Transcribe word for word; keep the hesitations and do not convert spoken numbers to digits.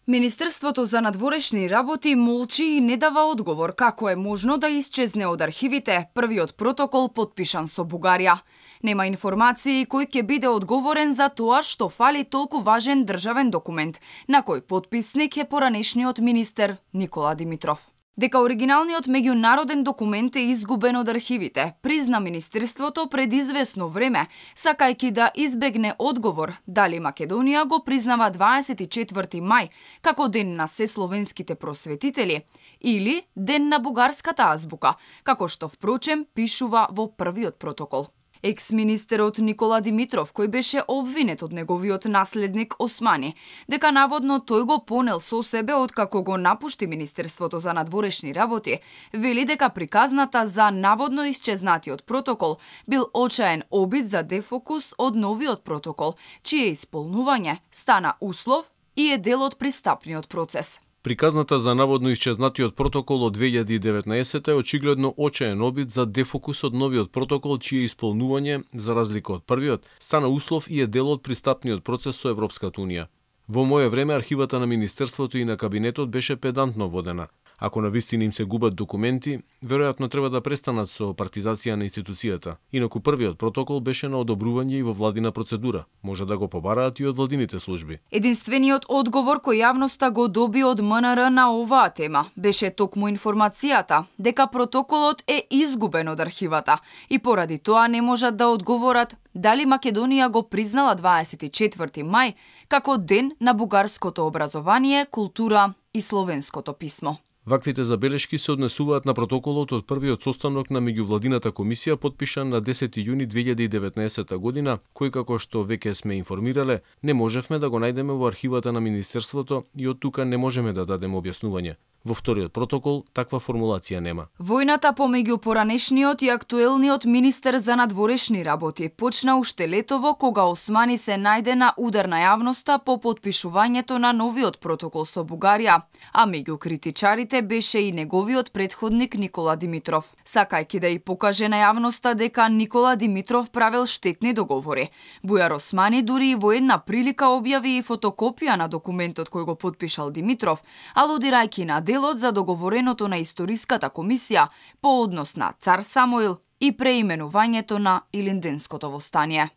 Министерството за надворешни работи молчи и не дава одговор како е можно да исчезне од архивите првиот протокол потпишан со Бугарија. Нема информации кој ќе биде одговорен за тоа што фали толку важен државен документ, на кој потписник е поранешниот министер Никола Димитров. Дека оригиналниот меѓународен документ е изгубен од архивите, призна Министерството пред известно време, сакајќи да избегне одговор дали Македонија го признава дваесет и четврти мај како ден на сесловенските просветители или ден на бугарската азбука, како што впрочем пишува во првиот протокол. Екс-министерот Никола Димитров, кој беше обвинет од неговиот наследник Османи, дека наводно тој го понел со себе откако го напушти Министерството за надворешни работи, вели дека приказната за наводно исчезнатиот протокол бил очаен обид за дефокус од новиот протокол, чие исполнување стана услов и е дел од пристапниот процес. Приказната за наводно исчезнатиот протокол од две илјади и деветнаесета е очигледно очаен обид за дефокус од новиот протокол, чие исполнување, за разлика од првиот, стана услов и е дел од пристапниот процес со Европската унија. Во моје време архивата на Министерството и на кабинетот беше педантно водена. Ако навистина им се губат документи, веројатно треба да престанат со партизација на институцијата. Инаку првиот протокол беше на одобрување и во владина процедура. Може да го побараат и од владините служби. Единствениот одговор кој јавноста го доби од МНР на оваа тема беше токму информацијата дека протоколот е изгубен од архивата и поради тоа не можат да одговорат дали Македонија го признала дваесет и четврти мај како ден на бугарското образование, култура и словенското писмо. Ваквите забелешки се однесуваат на протоколот од првиот состанок на меѓувладината комисија потпишан на десети јуни две илјади и деветнаесета година, кој, како што веќе сме информирале, не можевме да го најдеме во архивата на Министерството и од тука не можеме да дадеме објаснување. Во вториот протокол таква формулација нема. Војната помеѓу поранешниот и актуелниот министер за надворешни работи почна уште летово кога Османи се најде на удар на јавноста по потпишувањето на новиот протокол со Бугарија, а меѓу критичарите беше и неговиот претходник Никола Димитров, сакајќи да и покаже на јавноста дека Никола Димитров правел штетни договори. Бујар Османи дури и во една прилика објави и фотокопија на документот кој го потпишал Димитров, алудирајќи на делот за договореното на историската комисија по однос на Цар Самуил и преименувањето на Илинденското востание.